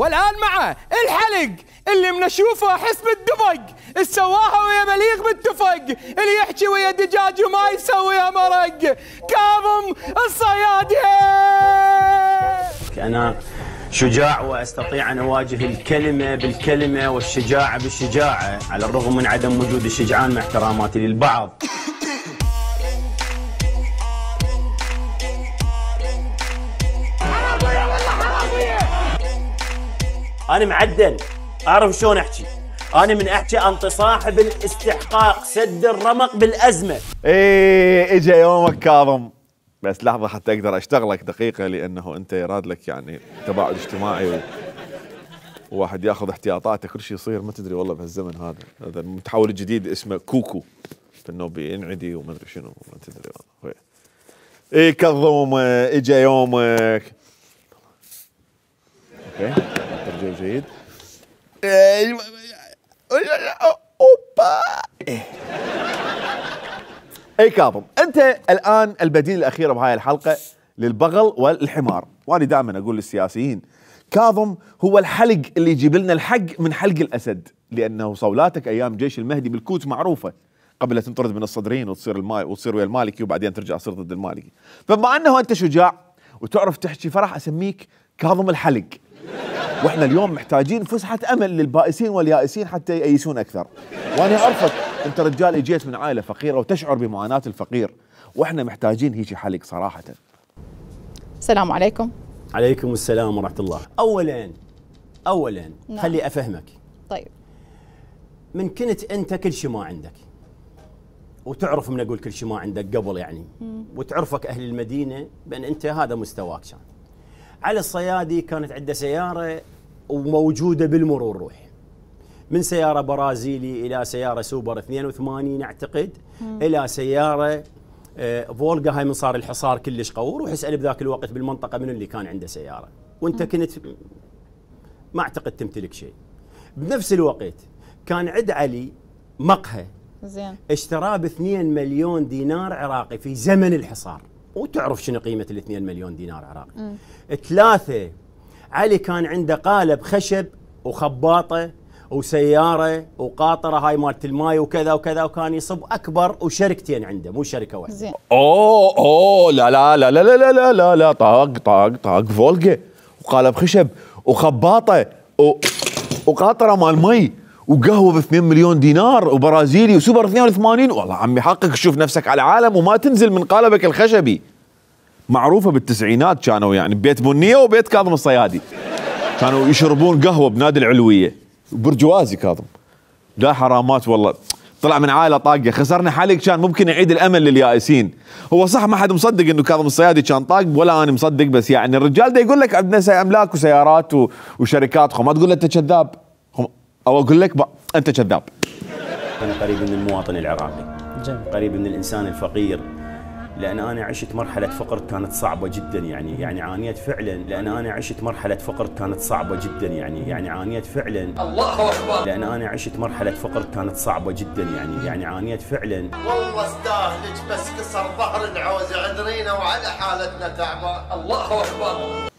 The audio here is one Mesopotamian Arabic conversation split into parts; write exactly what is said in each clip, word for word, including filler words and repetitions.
والآن مع الحلق اللي منشوفه حسب الدفق، السواها ويا مليق بالتفق، اللي يحكي ويا دجاج وما يسويها مرق، كاظم الصيادي. أنا شجاع واستطيع ان اواجه الكلمه بالكلمه والشجاعه بالشجاعه، على الرغم من عدم وجود الشجعان مع احتراماتي للبعض. انا معدل، اعرف شلون احكي. انا من احكي انت صاحب الاستحقاق، سد الرمق بالازمه. ايه اجى يومك كاظم، بس لحظة حتى أقدر أشتغلك دقيقة، لأنه أنت يراد لك يعني تباعد اجتماعي و... وواحد ياخذ احتياطاته، كل شيء يصير ما تدري والله بهالزمن هذا. هذا المتحول الجديد اسمه كوكو، إنه بينعدي وما أدري شنو، ما تدري والله. إيه كظوم إجا يومك. أوكي ترجمة جيد. أوبا. إيه اي كاظم، انت الان البديل الاخير بهاي الحلقه للبغل والحمار، وانا دائما اقول للسياسيين كاظم هو الحلق اللي يجيب لنا الحق من حلق الاسد، لانه صولاتك ايام جيش المهدي بالكوت معروفه، قبل لا تنطرد من الصدرين وتصير المال وتصير ويا المالكي وبعدين ترجع تصير ضد المالكي. فبما انه انت شجاع وتعرف تحكي فراح اسميك كاظم الحلق. واحنا اليوم محتاجين فسحه امل للبائسين واليائسين حتى يأيسون اكثر. وانا اعرفك انت رجال اجيت من عائله فقيره وتشعر بمعاناه الفقير، واحنا محتاجين هيك حلق صراحه. السلام عليكم. عليكم السلام ورحمه الله. اولا اولا نعم. خلي افهمك. طيب من كنت انت كل شيء ما عندك، وتعرف من اقول كل شيء ما عندك قبل يعني، مم. وتعرفك اهل المدينه بان انت هذا مستواك. كان علي الصيادي كانت عنده سياره وموجوده بالمرور، روح من سياره برازيلي الى سياره سوبر اثنين وثمانين اعتقد، مم. الى سياره آه فولجا، هاي من صار الحصار كلش قوي. روح اسال بذاك الوقت بالمنطقه من اللي كان عنده سياره، وانت مم. كنت ما اعتقد تمتلك شيء. بنفس الوقت كان عند علي مقهى زين اشتراه ب اثنين مليون دينار عراقي في زمن الحصار، وتعرف شنو قيمه ال اثنين مليون دينار عراقي. مم. ثلاثه علي كان عنده قالب خشب وخباطه وسياره وقاطره هاي مالت الماي وكذا وكذا، وكان يصب اكبر، وشركتين عنده مو شركه واحده. زين. اوه اوه لا لا لا لا لا لا لا لا طاق طاق طاق فولجا وقالب خشب وخباطه و... وقاطره مال مي وقهوه ب اثنين مليون دينار وبرازيلي وسوبر اثنين وثمانين. والله عمي حقك تشوف نفسك على العالم وما تنزل من قالبك الخشبي. معروفه بالتسعينات كانوا يعني بيت بنيه وبيت كاظم الصيادي كانوا يشربون قهوه بنادي العلويه، برجوازي كاظم. لا حرامات والله، طلع من عائله طاقه، خسرنا حلق كان ممكن يعيد الامل لليائسين. هو صح ما حد مصدق انه كاظم الصيادي كان طاق، ولا انا مصدق، بس يعني الرجال ده يقول لك عندنا املاك وسيارات وشركات، خو ما تقول له انت كذاب، او اقول لك انت كذاب. انا قريب من المواطن العراقي، قريب من الانسان الفقير، لأن أنا عشت مرحلة فقر كانت صعبة جدا يعني يعني عانيت فعلا، لأن أنا عشت مرحلة فقر كانت صعبة جدا يعني يعني عانيت فعلا. الله أكبر. لأن أنا عشت مرحلة فقر كانت صعبة جدا يعني يعني عانيت فعلا. والله استاهلك بس كسر ظهر العوز عذرينا وعلى حالتنا تعبان. الله أكبر.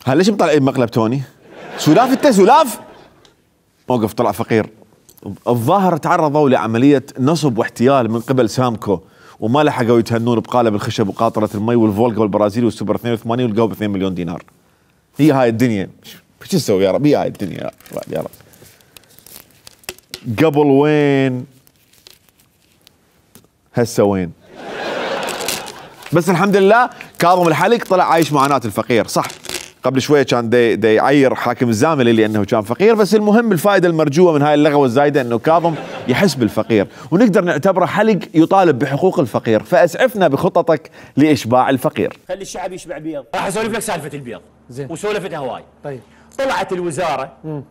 هل ليش مطلعين مقلب توني؟ سلاف انت سلاف؟ موقف طلع فقير. الظاهر تعرضوا لعملية نصب واحتيال من قبل سامكو، وما لحقوا يتهنون بقالب الخشب وقاطرة المي والفولجا والبرازيلي والسوبر اثنين وثمانين والقوا ب اثنين مليون دينار. هي هاي الدنيا، شو تسوي يا رب؟ هي هاي الدنيا يا رب. قبل وين؟ هسه وين؟ بس الحمد لله كاظم الحلق طلع عايش معاناة الفقير. صح قبل شوية كان دي, دي يعير حاكم الزاملي لأنه كان فقير، بس المهم الفائدة المرجوة من هاي اللغوة الزايدة أنه كاظم يحس بالفقير، ونقدر نعتبره حلق يطالب بحقوق الفقير. فأسعفنا بخططك لإشباع الفقير. خلي الشعب يشبع بيض. راح أسولف لك سالفة البيض. زين. وسولفتها هواي. طيب. طلعت الوزارة مم.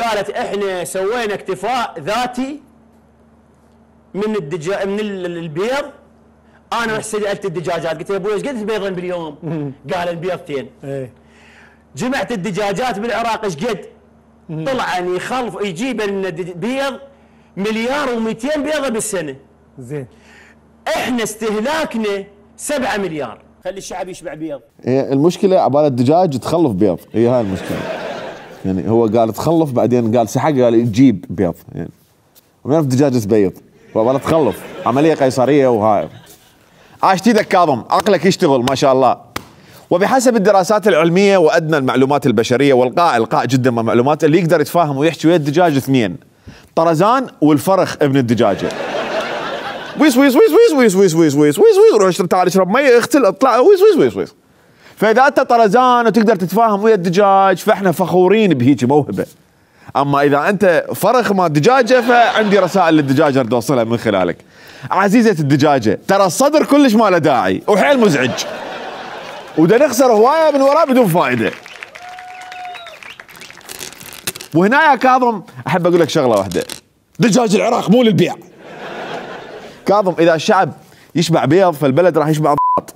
قالت إحنا سوينا اكتفاء ذاتي من الدجا من البيض. أنا رحت سألت الدجاجات قلت يا أبوي إيش قد بيضا باليوم؟ مم. قال البيضتين. إيه. جمعت الدجاجات بالعراق ايش قد؟ طلع ان يخلف يجيب لنا بيض مليار ومئتين بيضه بالسنه. زين. احنا استهلاكنا سبعة مليار. خلي الشعب يشبع بيض. هي المشكله عبال الدجاج تخلف بيض، هي هاي المشكله. يعني هو قال تخلف بعدين قال سحق قال يجيب بيض، يعني وما يعرف الدجاج تبيض وعبال تخلف عمليه قيصريه. وهاي عاش ايدك كاظم، عقلك يشتغل ما شاء الله. وبحسب الدراسات العلميه وادنى المعلومات البشريه والقاء القاء جدا من المعلومات، اللي يقدر يتفاهم ويحكي ويا الدجاج اثنين، طرزان والفرخ ابن الدجاجه. ويس ويس ويس ويس ويس ويس ويس ويس ويس ويس روح تعال اشرب مي اغتل اطلع ويس ويس ويس ويس. فاذا انت طرزان وتقدر تتفاهم ويا الدجاج فاحنا فخورين بهيك موهبه. اما اذا انت فرخ ما دجاجه فعندي رسائل للدجاجه اريد اوصلها من خلالك. عزيزه الدجاجه، ترى الصدر كلش ما له داعي وحيل مزعج، ودا نخسر هوايه من وراه بدون فائده. وهنا يا كاظم احب اقول لك شغله واحده، دجاج العراق مو للبيع. كاظم اذا الشعب يشبع بيض فالبلد راح يشبع ضغط.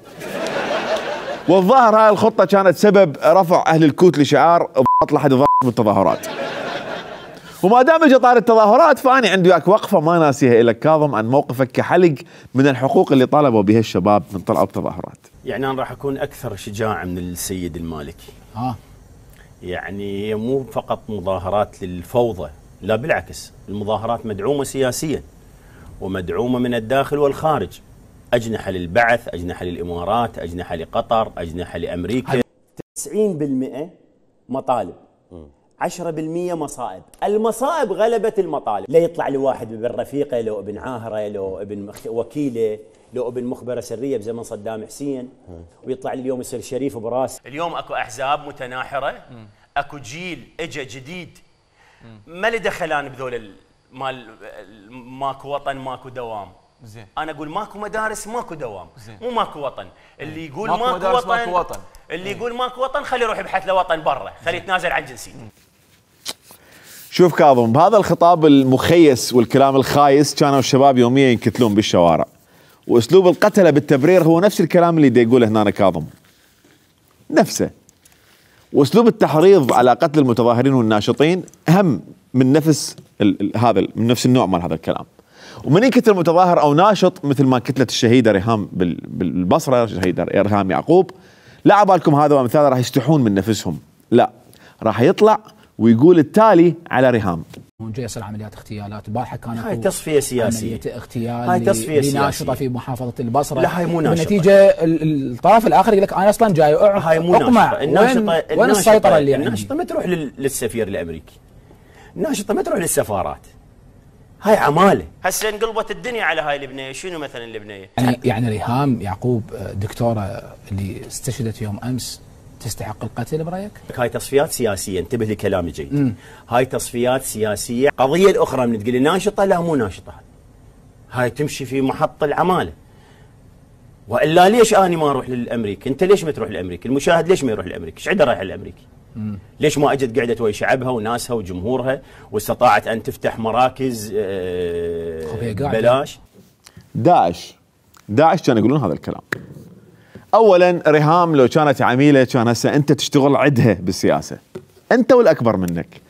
والظاهر هاي الخطه كانت سبب رفع اهل الكوت لشعار ضغط لحد ضغط بالتظاهرات. وما دام اجى طار التظاهرات فاني عندي وياك وقفه ما ناسيها لك كاظم عن موقفك كحلق من الحقوق اللي طالبوا بها الشباب من طلعوا بتظاهرات. يعني انا راح اكون اكثر شجاعه من السيد المالكي. اه يعني هي مو فقط مظاهرات للفوضى، لا بالعكس، المظاهرات مدعومه سياسيا ومدعومه من الداخل والخارج. اجنحه للبعث، اجنحه للامارات، اجنحه لقطر، اجنحه لامريكا. تسعين بالمئة مطالب، عشرة بالمئة مصائب. المصائب غلبت المطالب. لا يطلع لي واحد ابن رفيقه، لو ابن عاهره، لو ابن وكيله، لو ابن مخبره سريه بزمن صدام حسين، ويطلع لي اليوم يصير شريف براس. اليوم اكو احزاب متناحره، اكو جيل اجى جديد ما له دخلان بذول مال ماكو وطن ماكو دوام. زين انا اقول ماكو مدارس ماكو دوام. زين مو ماكو وطن. اللي يقول ماكو, ماكو وطن ماكو وطن اللي يقول ماكو وطن خليه يروح يبحث له وطن برا، خليه يتنازل عن جنسيته. شوف كاظم، بهذا الخطاب المخيس والكلام الخايس كانوا الشباب يوميا ينكتلون بالشوارع، واسلوب القتله بالتبرير هو نفس الكلام اللي دا يقوله هنا كاظم نفسه. واسلوب التحريض على قتل المتظاهرين والناشطين اهم من نفس هذا من نفس النوع مال هذا الكلام. ومن يقتل متظاهر او ناشط مثل ما قتلت الشهيده ريهام بالبصره، الشهيده ريهام يعقوب، لا عبالكم هذا وامثاله راح يستحون من نفسهم، لا راح يطلع ويقول التالي على ريهام. جاي يصير عمليات اغتيالات، البارحه كانت هاي تصفيه سياسيه، عمليه اغتيال هاي تصفيه سياسيه لناشطه في محافظه البصره. لا هاي مو ناشطه. بالنتيجه الطرف الاخر يقول لك انا اصلا جاي هاي مو اقمع. الناشطه وين, وين السيطره اللي عندي؟ الناشطه ما تروح للسفير الامريكي، الناشطه ما تروح للسفارات، هاي عماله. هسه انقلبت الدنيا على هاي البنيه. شنو مثلا البنيه؟ يعني يعني ريهام يعقوب دكتوره اللي استشهدت يوم امس تستحق القتل برايك؟ هاي تصفيات سياسيه، انتبه لكلامي جيد. مم. هاي تصفيات سياسيه. قضيه الاخرى من تقول لي ناشطه، لا مو ناشطه، هاي تمشي في محط العماله. والا ليش اني ما اروح للامريكي؟ انت ليش ما تروح للامريكي؟ المشاهد ليش ما يروح للامريكي؟ ايش عنده رايح للامريكي؟ مم. ليش ما اجت قعدت ويا شعبها وناسها وجمهورها واستطاعت ان تفتح مراكز آه بلاش؟ داعش داعش كانوا يقولون هذا الكلام. اولا ريهام لو كانت عميله كان هسه انت تشتغل عدها بالسياسه، انت والاكبر منك.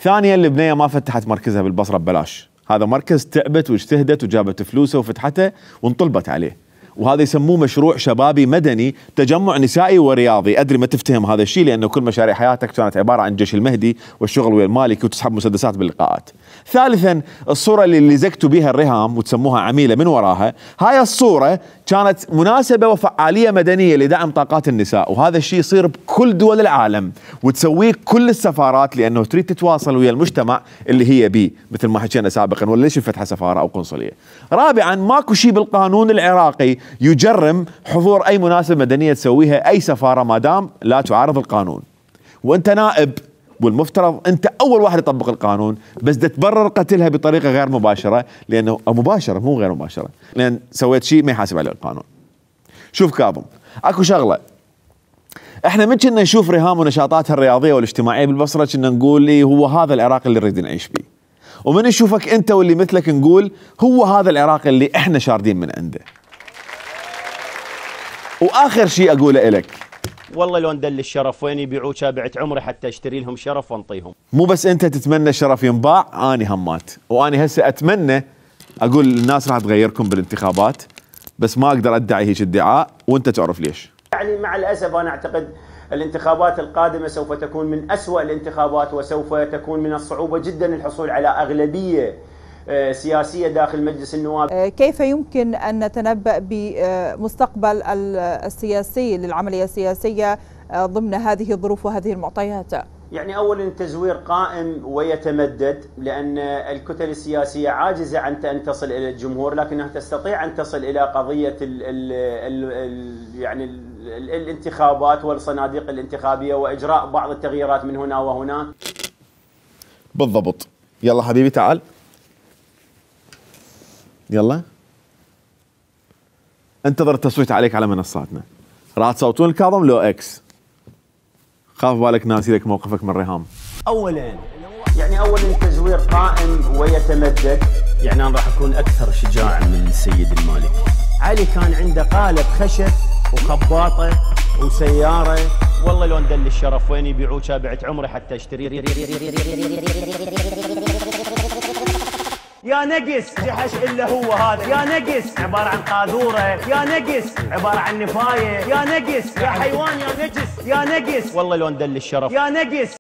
ثانيا البنيه ما فتحت مركزها بالبصره ببلاش، هذا مركز تعبت واجتهدت وجابت فلوسه وفتحته وانطلبت عليه، وهذا يسموه مشروع شبابي مدني تجمع نسائي ورياضي. ادري ما تفتهم هذا الشيء لانه كل مشاريع حياتك كانت عباره عن جيش المهدي والشغل ويا المالكي وتسحب مسدسات باللقاءات. ثالثا الصوره اللي لزقتوا بها الريهام وتسموها عميله من وراها، هاي الصوره كانت مناسبه وفعاليه مدنيه لدعم طاقات النساء، وهذا الشيء يصير بكل دول العالم وتسويه كل السفارات لانه تريد تتواصل ويا المجتمع اللي هي بيه، مثل ما حكينا سابقا، ولا ليش فتح سفاره او قنصليه. رابعا ماكو شيء بالقانون العراقي يجرم حضور اي مناسبه مدنيه تسويها اي سفاره ما دام لا تعارض القانون. وانت نائب والمفترض انت اول واحد يطبق القانون، بس دا تبرر قتلها بطريقه غير مباشره لانه او مباشره مو غير مباشره، لان سويت شيء ما يحاسب عليه القانون. شوف كاظم، اكو شغله احنا من كنا نشوف ريهام ونشاطاتها الرياضيه والاجتماعيه بالبصره كنا نقول لي هو هذا العراق اللي نريد نعيش فيه، ومن نشوفك انت واللي مثلك نقول هو هذا العراق اللي احنا شاردين من عنده. واخر شيء اقوله لك، والله لو ندل الشرف وين يبيعوه بعت عمري حتى اشتري لهم شرف وانطيهم. مو بس انت تتمنى الشرف ينباع، اني همات، واني هسه اتمنى اقول الناس راح تغيركم بالانتخابات، بس ما اقدر ادعي هيك ادعاء وانت تعرف ليش. يعني مع الاسف انا اعتقد الانتخابات القادمه سوف تكون من اسوأ الانتخابات، وسوف تكون من الصعوبه جدا الحصول على اغلبيه سياسيه داخل مجلس النواب. كيف يمكن ان نتنبأ بمستقبل السياسي للعمليه السياسيه ضمن هذه الظروف وهذه المعطيات؟ يعني اولا التزوير قائم ويتمدد، لان الكتل السياسيه عاجزه عن ان تصل الى الجمهور، لكنها تستطيع ان تصل الى قضيه ال ال ال يعني ال الانتخابات والصناديق الانتخابيه واجراء بعض التغييرات من هنا وهناك. بالضبط. يلا حبيبي تعال، يلا انتظر التصويت عليك على منصاتنا. راح تصوتون الكاظم لو اكس؟ خاف بالك ناسي لك موقفك من ريهام. اولا يعني اولا التزوير قائم ويتمدد، يعني انا راح اكون اكثر شجاعا من السيد المالكي. علي كان عنده قالب خشب وخباطه وسياره، والله لو ندل الشرف وين يبيعوه بعت عمري حتى اشتري. يا نقص جحش الا هو هذا، يا نقص عباره عن قاذوره، يا نقص عباره عن نفايه، يا نقص يا حيوان، يا نجس، يا نقص والله لو ندل الشرف، يا نقص.